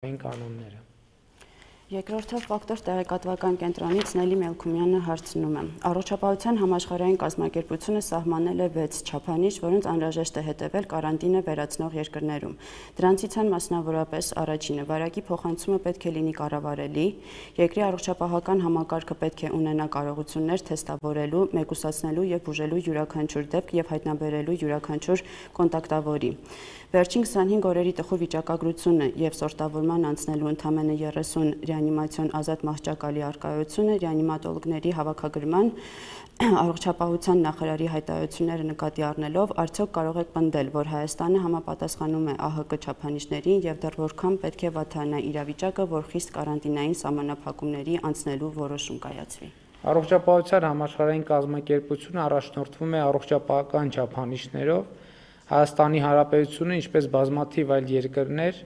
կանոնները։ Երկրորդը ֆակտոր տեղեկատվական կենտրոնից Նելի Մելքումյանը հարցնում է. Առողջապահության համաշխարհային կազմակերպությունը սահմանել է 6 չափանիշ, որոնց անհրաժեշտ է հետևել կարանտինը վերացնող երկրներում։ Դրանցից են մասնավորապես առաջինը՝ վարակի փոխանցումը պետք է լինի կառավարելի, երկրի առողջապահական համակարգը պետք է ունենա կարողություններ թեստավորելու, մեկուսացնելու եւ բուժելու յուրաքանչյուր դեպք եւ հայտնաբերելու յուրաքանչյուր կոնտակտավորի։ Վերջին 25 օրերի տխուր վիճակագրությունը եւ սորտավորման անցնելու ընդամենը 30 ռեանիմացիոն ազատ մահճակալի առկայությունը, ռեանիմատոլոգների հավաքագրման, առողջապահության նախարարի հայտարարությունները նկատի առնելով, արդյոք կարող եք պնդել, որ Հայաստանը համապատասխանում է ԱՀԿ չափանիշներին եւ դեռ որքան պետք է վատանա իրավիճակը, որ խիստ կարանտինային սահմանափակումների անցնելու որոշում կայացվի։ Առողջապահության համաշխարհային կազմակերպությունը առաջնորդվում է առողջապահական չափանիշներով։ Հայաստանի Հանրապետությունը, ինչպես բազմաթիվ այլ երկրներ,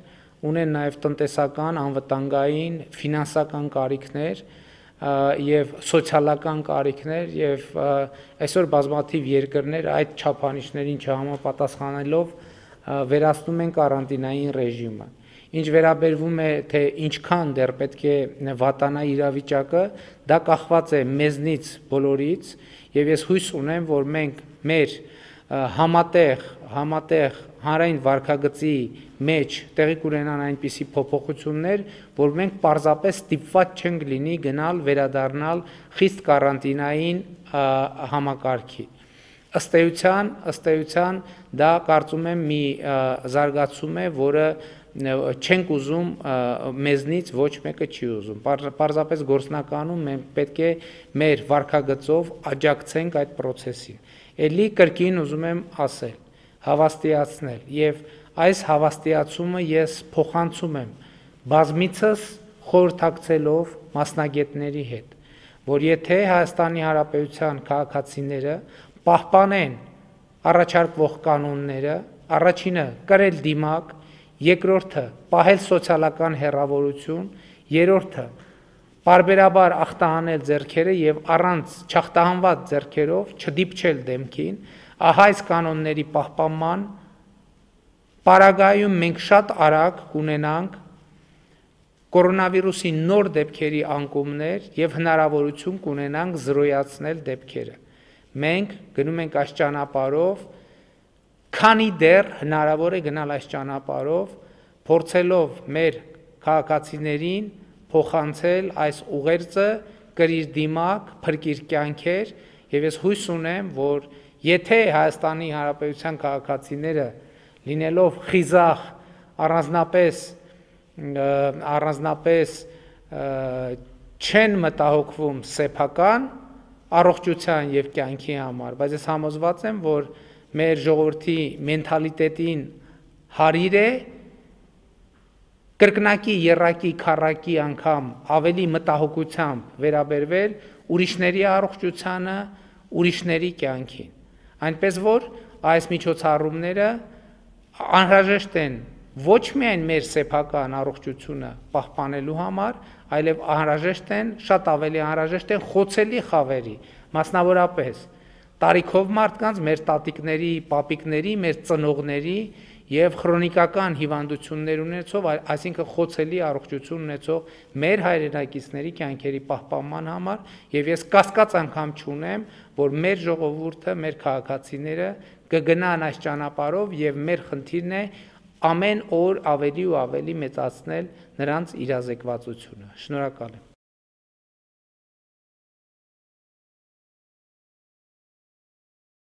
ունեն նաև տնտեսական, անվտանգային, ֆինանսական կարիքներ եւ սոցիալական կարիքներ եւ այսօր բազմաթիվ երկրներ այդ չափանիշներին չհամապատասխանելով վերացնում են կարանտինային ռեժիմը։ Ինչ վերաբերվում է, թե ինչքան դեռ պետք է վատանա իրավիճակը, դա կախված է մեզնից բոլորից եւ ես հույս ունեմ, որ մենք մեր համատեղ հանրային վարքագծի մեջ տեղի կունենան այնպիսի փոփոխություններ, որ մենք պարզապես ստիպված չենք լինի գնալ վերադառնալ խիստ կարանտինային համակարգի։ Ըստ էության դա կարծում եմ մի զարգացում է, որը չենք ուզում մեզնից ոչ մեկը չի ուզում։ Պարզապես գործնականում մենք պետք է մեր վարքագծով աջակցենք այդ process-ին։ Էլի կրկին ուզում եմ ասել, հավաստիացնել եւ այս հավաստիացումը ես փոխանցում եմ բազմիցս խորհրդակցելով մասնագետների հետ, որ եթե Հայաստանի Հանրապետության քաղաքացիները պահպանեն առաջարկվող կանոնները, առաջինը կրել դիմակ, երկրորդը պահել սոցիալական հեռավորություն, երրորդը պարբերաբար ախտահանել ձեռքերը եւ առանց չախտահանված ձեռքերով չդիպչել դեմքին, ահա այս կանոնների պահպանման պարագայում մենք շատ արագ կունենանք կորոնավիրուսի նոր դեպքերի անկումներ եւ հնարավորություն կունենանք զրոյացնել դեպքերը։ Մենք գնում ենք այս ճանապարհով, քանի դեռ հնարավոր է գնալ այս ճանապարհով, փորձելով մեր քաղաքացիներին փոխանցել այս ուղերձը, կրիր դիմակ, փրկիր կյանքեր եւ ես հույս ունեմ, որ եթե Հայաստանի Հանրապետության քաղաքացիները լինելով խիզախ առանձնապես չեն մտահոգվում սեփական առողջության եւ կյանքի համար, բայց ես համոզված եմ, որ մեր ժողովրդի մենթալիտետին հարիր է կրկնակի, եռակի, քառակի անգամ ավելի մտահոգությամբ վերաբերվել ուրիշների առողջությանը, ուրիշների կյանքին։ Այնպես որ այս միջոցառումները անհրաժեշտ են ոչ միայն մեր սեփական առողջությունը պահպանելու համար, այլև շատ ավելի անհրաժեշտ են խոցելի խավերի, մասնավորապես տարիքով մարդկանց, մեր տատիկների, պապիկների, մեր ծնողների եւ քրոնիկական հիվանդություններ ունեցող, այսինքն խոցելի առողջություն ունեցող մեր հայրենակիցների կյանքերի պահպանման համար եւ ես կասկած անգամ չունեմ, որ մեր ժողովուրդը, մեր քաղաքացիները կգնան այս ճանապարհով եւ մեր խնդիրն է ամեն օր ավելի ու ավելի մեծացնել նրանց իրազեկվածությունը։ Շնորհակալ եմ։